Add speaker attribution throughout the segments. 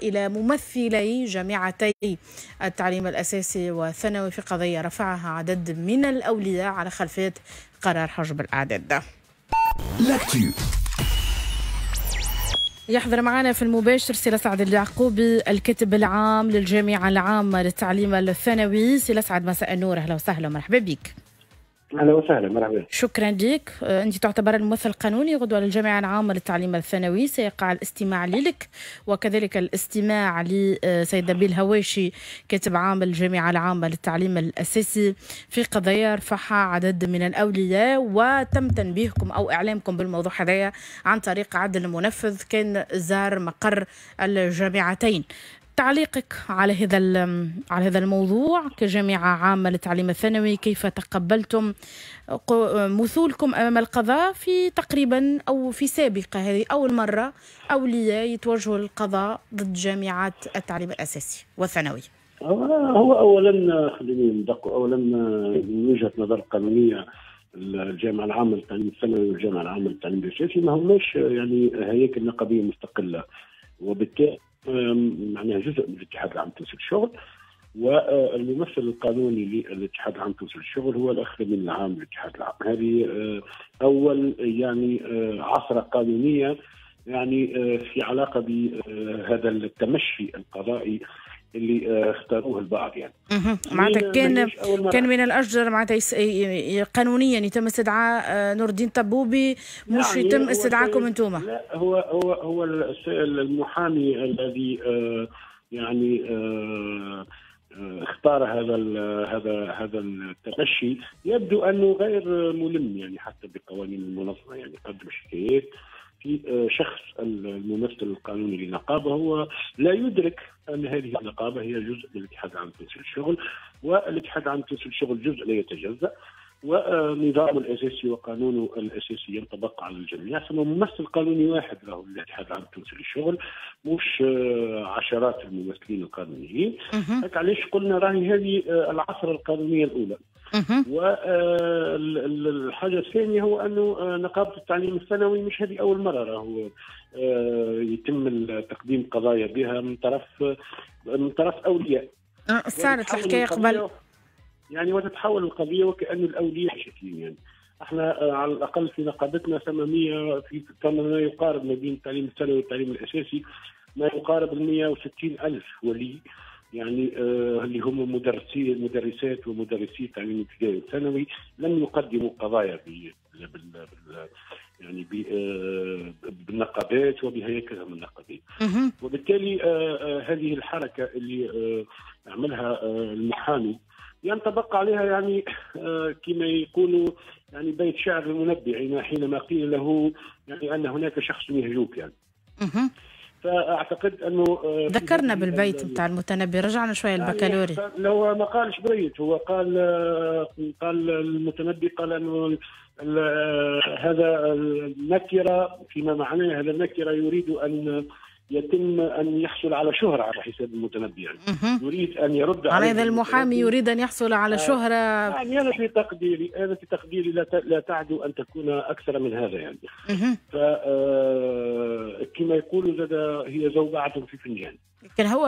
Speaker 1: إلى ممثلي جامعتي التعليم الأساسي والثانوي في قضية رفعها عدد من الأولياء على خلفية قرار حجب الأعداد. يحضر معنا في المباشر سي لسعد اليعقوبي الكاتب العام للجامعة العامة للتعليم الثانوي. سي لسعد مساء النور، أهلا وسهلا ومرحبا بك.
Speaker 2: اهلا وسهلا، مرحبا.
Speaker 1: شكرا لك. انت تعتبر الممثل القانوني غدوه للجامعة العامة للتعليم الثانوي، سيقع الاستماع لك وكذلك الاستماع لسيد نبيل هواشي كاتب عام الجامعة العامة للتعليم الاساسي في قضية رفعها عدد من الاولياء، وتم تنبيهكم او اعلامكم بالموضوع هذايا عن طريق عدل المنفذ كان زار مقر الجامعتين. تعليقك على هذا الموضوع كجامعة عامة للتعليم الثانوي، كيف تقبلتم مثولكم أمام القضاء في تقريبا أو في سابقة هذه أول مرة أولياء يتوجهوا للقضاء ضد جامعات التعليم الأساسي والثانوي؟
Speaker 2: هو أولا خليني ندق، أولا من وجهة نظر قانونية الجامعة العامة للتعليم الثانوي والجامعة العامة للتعليم الأساسي ما هماش يعني هياكل نقابية مستقلة، وبالتالي معناها جزء من الاتحاد العام التونسي للشغل، والممثل القانوني للاتحاد العام التونسي للشغل هو الاخ الامين العام للاتحاد العام. هذه اول يعني عثره قانونية يعني في علاقة بهذا التمشي القضائي اللي اختاروه البعض. يعني
Speaker 1: معناتها كان من الاجدر معناتها قانونيا يتم استدعاء نور الدين طبوبي، مش يعني يتم استدعاءكم انتم.
Speaker 2: لا، هو هو هو المحامي الذي يعني اختار هذا التمشي يبدو انه غير ملم يعني حتى بقوانين المنظمة، يعني قدم شكايات في شخص الممثل القانوني للنقابه هو لا يدرك ان هذه النقابة هي جزء من الاتحاد العام التونسي للشغل، والاتحاد العام التونسي للشغل جزء لا يتجزأ، ونظامه الاساسي وقانونه الاساسي ينطبق على الجميع. ثم ممثل قانوني واحد له الاتحاد العام التونسي للشغل، مش عشرات الممثلين القانونيين. هكا علاش قلنا راهي هذه العثره القانونية الاولى. والحاجة الثانية هو انه نقابة التعليم الثانوي مش هذه اول مرة راهو يتم تقديم قضايا بها من طرف اولياء.
Speaker 1: صارت الحكاية قبل
Speaker 2: يعني، وتتحول القضية وكأن الاولياء شاكين. يعني احنا على الاقل في نقابتنا 800 في ما يقارب ما بين التعليم الثانوي والتعليم الاساسي ما يقارب 160 ألف ولي، يعني اللي هم مدرسات ومدرسي التعليم الابتدائي والثانوي لم يقدموا قضايا يعني بالنقابات وبهياكلهم النقابيه. وبالتالي هذه الحركة اللي عملها المحامي ينطبق عليها يعني كما يقولوا يعني بيت شعر المنبع حينما قيل له يعني ان هناك شخص يهجوك يعني. فاعتقد انه
Speaker 1: ذكرنا بالبيت نتاع المتنبي، رجعنا شوية البكالوري.
Speaker 2: يعني هو ما قالش بيت، هو قال المتنبي قال انه هذا النكرة فيما معناه هذا النكرة يريد ان يتم ان يحصل على شهره على حساب المتنبي، يعني يريد ان يرد
Speaker 1: على هذا المحامي، يريد ان يحصل على شهره.
Speaker 2: يعني انا في تقديري لا تعدو ان تكون اكثر من هذا يعني. ف كما يقولوا زاد هي زوبعة في فنجان.
Speaker 1: لكن هو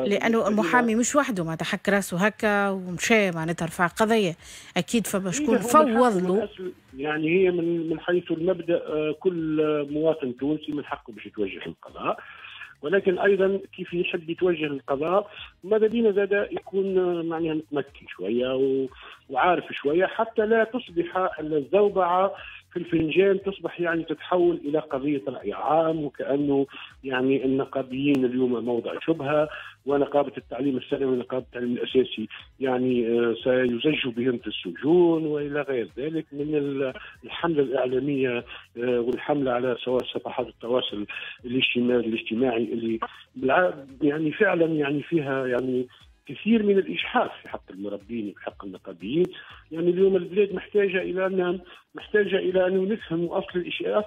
Speaker 1: لانه المحامي مش وحده معناتها حك راسه هكا ومشى معناتها رفع قضية، اكيد فما شكون فوض له.
Speaker 2: يعني هي من حيث المبدا كل مواطن تونسي من حقه باش يتوجه للقضاء، ولكن ايضا كيف يحب يتوجه للقضاء ماذا بينا زاد يكون معناها متمكن شوية وعارف شوية حتى لا تصبح الزوبعه في الفنجان، تصبح يعني تتحول الى قضية راي عام، وكانه يعني النقابيين اليوم موضع شبهه، ونقابة التعليم الثانوي ونقابة التعليم الاساسي يعني سيزج بهم في السجون والى غير ذلك من الحملة الاعلامية والحمله على سواء صفحات التواصل الاجتماعي اللي يعني فعلا يعني فيها يعني كثير من الإجحاف في حق المربين وفي حق النقابيين. يعني اليوم البلاد محتاجة إلى أن نفهم أصل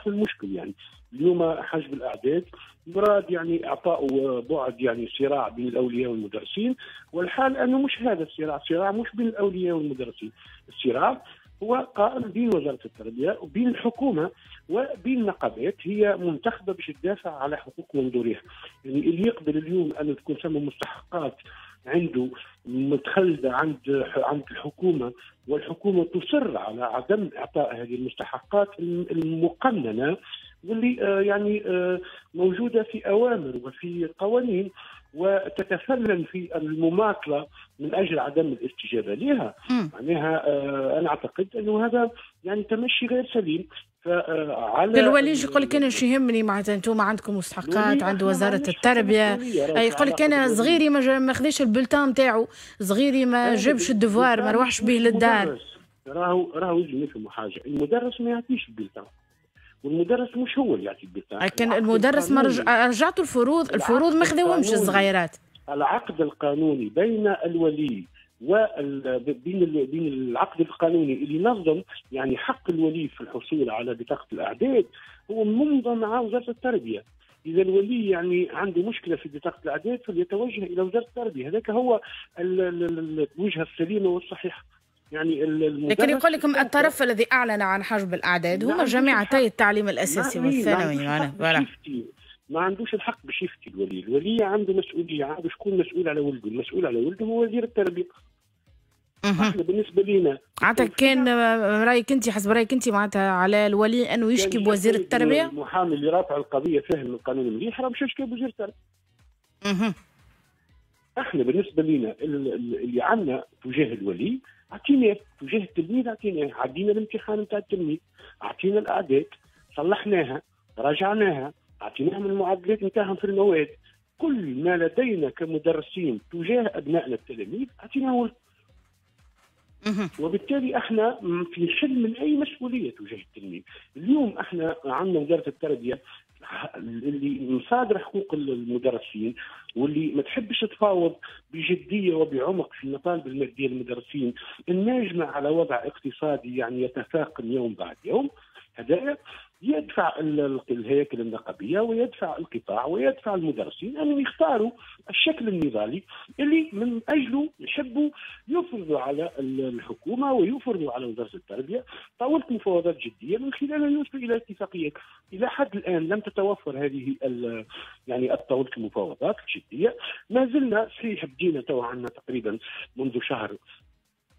Speaker 2: المشكل. يعني اليوم حجب الأعداد مراد يعني إعطاء بعد يعني صراع بين الأولياء والمدرسين، والحال أنه مش هذا الصراع، الصراع مش بين الأولياء والمدرسين، الصراع هو قائم بين وزارة التربية وبين الحكومة وبين نقابات هي منتخبه باش تدافع على حقوق منظوريها. يعني اللي يقبل اليوم ان تكون ثم مستحقات عنده متخلده عند الحكومة، والحكومة تصر على عدم اعطاء هذه المستحقات المقننه واللي يعني موجودة في اوامر وفي قوانين، وتتفنن في المماطله من اجل عدم الاستجابة لها. معناها انا اعتقد انه هذا يعني تمشي غير سليم.
Speaker 1: فعلى الولي يقول لك انا شو يهمني، معناتها انتم عندكم مستحقات عند وزارة التربية، يقول لك انا صغيري ما خذاش ال bulletin نتاعو، صغيري ما جابش ال devoir، ما روحش به للدار.
Speaker 2: راهو لازم نفهموا حاجة، المدرس ما يعطيش ال bulletin، والمدرس مش هو اللي يعطي ال bulletin.
Speaker 1: لكن المدرس ما رجعتوا الفروض ما خذوهمش الصغيرات.
Speaker 2: العقد القانوني بين الولي بين العقد القانوني اللي نظم يعني حق الولي في الحصول على بطاقة الأعداد هو منظم مع وزارة التربية. إذا الولي يعني عنده مشكلة في بطاقة الأعداد فليتوجه إلى وزارة التربية، هذاك هو الوجهة السليمة والصحيحة. يعني
Speaker 1: لكن يقول لكم الطرف الذي أعلن عن حجب الأعداد هما جامعتي التعليم الأساسي والثانوي.
Speaker 2: ما عندوش الحق باش يفتي الولي، الولي عنده مسؤولية، عنده شكون مسؤول على ولده، المسؤول على ولده هو وزير التربية. احنا بالنسبة لنا
Speaker 1: معناتها كان رايك انت، حسب رايك انت معناتها على الولي انه يشكي بوزير التربية؟
Speaker 2: المحامي اللي رافع القضية فهم القانون مليح راه مش يشكي بوزير التربية. احنا بالنسبة لنا اللي عندنا تجاه الولي اعطيناه، تجاه التلميذ اعطيناه، عدينا الامتحان نتاع التلميذ، اعطينا الاعداد، صلحناها، راجعناها، اعطيناهم المعدلات نتاعهم في المواد، كل ما لدينا كمدرسين تجاه ابنائنا التلاميذ اعطيناه. وبالتالي احنا في حل من اي مسؤولية تجاه التلميذ. اليوم احنا عندنا وزارة التربية اللي مصادره حقوق المدرسين واللي ما تحبش تفاوض بجدية وبعمق في المطالب المادية للمدرسين، الناجمة على وضع اقتصادي يعني يتفاقم يوم بعد يوم. هذا يدفع الهياكل النقابيه ويدفع القطاع ويدفع المدرسين ان يختاروا الشكل النضالي اللي من اجله يحبوا يفرضوا على الحكومة ويفرضوا على وزارة التربية طاولة مفاوضات جدية من خلالها يوصلوا الى اتفاقيات. الى حد الان لم تتوفر هذه يعني طاولة المفاوضات الجدية. ما زلنا صحيح بدينا تو عندنا تقريبا منذ شهر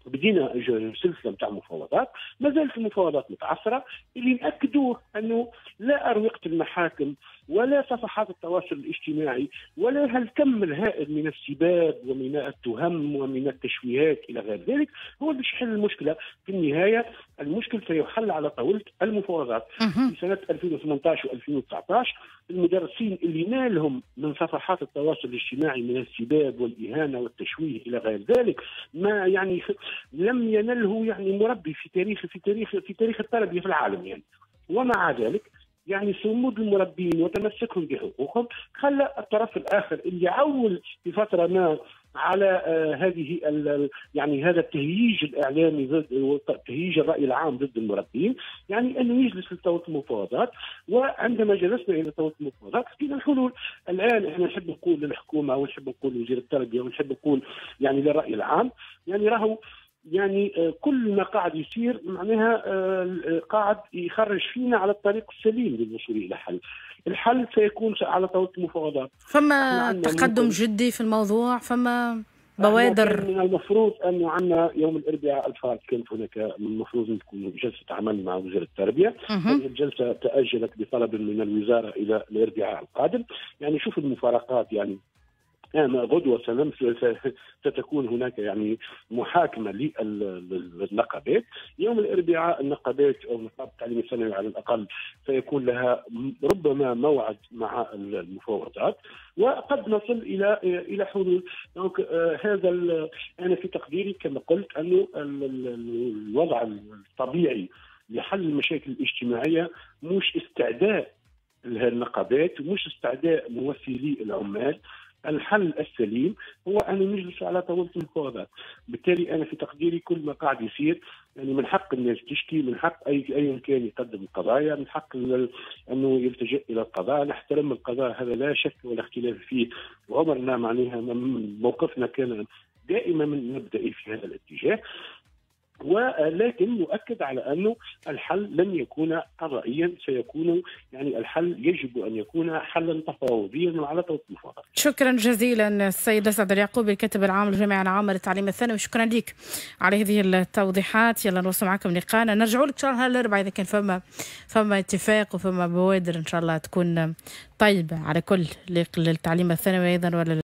Speaker 2: بدينا سلسلة نتاع مفاوضات، ما زالت المفاوضات متعثره. اللي ناكدوه انه لا اروقة المحاكم ولا صفحات التواصل الاجتماعي ولا هالكم الهائل من السباب ومن التهم ومن التشويهات الى غير ذلك هو باش يحل المشكلة. في النهاية المشكل سيحل على طاولة المفاوضات. في سنة 2018 و2019 المدرسين اللي نالهم من صفحات التواصل الاجتماعي من السباب والاهانة والتشويه الى غير ذلك ما يعني لم ينله يعني مربي في تاريخ في تاريخ في تاريخ التربية في العالم يعني. ومع ذلك يعني صمود المربين وتمسكهم بحقوقهم خلى الطرف الاخر اللي عول في فترة ما على هذه يعني هذا التهييج الاعلامي ضد تهييج الراي العام ضد المربين يعني انه يجلس لطاوله المفاوضات. وعندما جلسنا الى طاولة المفاوضات لقينا الحلول. الان احنا نحب نقول للحكومة ونحب نقول لوزير التربية ونحب نقول يعني للراي العام يعني راهو يعني كل ما قاعد يصير معناها قاعد يخرج فينا على الطريق السليم للوصول الى حل. الحل سيكون على طاولة المفاوضات.
Speaker 1: فما تقدم جدي في الموضوع، فما بوادر.
Speaker 2: من المفروض انه عندنا يوم الاربعاء الفات كانت هناك من المفروض ان تكون جلسه عمل مع وزير التربية. هذه الجلسة تاجلت بطلب من الوزارة الى الاربعاء القادم. يعني شوف المفارقات، يعني غدوة ستكون هناك يعني محاكمة للنقابات. يوم الأربعاء النقابات أو نقابة التعليم الثانوي على الأقل سيكون لها ربما موعد مع المفاوضات وقد نصل إلى حلول. donc هذا أنا في تقديري كما قلت أنه الوضع الطبيعي لحل المشاكل الاجتماعية مش استعداء النقابات ومش استعداء ممثلي العمال. الحل السليم هو أن نجلس على طاولة المفاوضات. بالتالي أنا في تقديري كل ما قاعد يصير يعني من حق الناس تشكي، من حق أي كان يقدم القضايا، من حق أنه يلتجئ إلى القضاء. نحترم القضاء، هذا لا شك ولا اختلاف فيه، وعمرنا معناها موقفنا كان دائما من مبدئي في هذا الاتجاه. ولكن نؤكد على أنه الحل لن يكون قضائيا، سيكون يعني الحل يجب أن يكون حلا تفاوضيا وعلى طاولة المفاوضات.
Speaker 1: شكرا جزيلا السيد أسعد اليعقوبي الكاتب العام للجامعة العامة للتعليم الثانوي، شكرا لك على هذه التوضيحات. يلا نوصل معكم لقاءنا، نرجعوا لك إن شاء الله الأربعاء إذا كان فما اتفاق وفما بوادر إن شاء الله تكون طيبة على كل للتعليم الثانوي أيضا ولا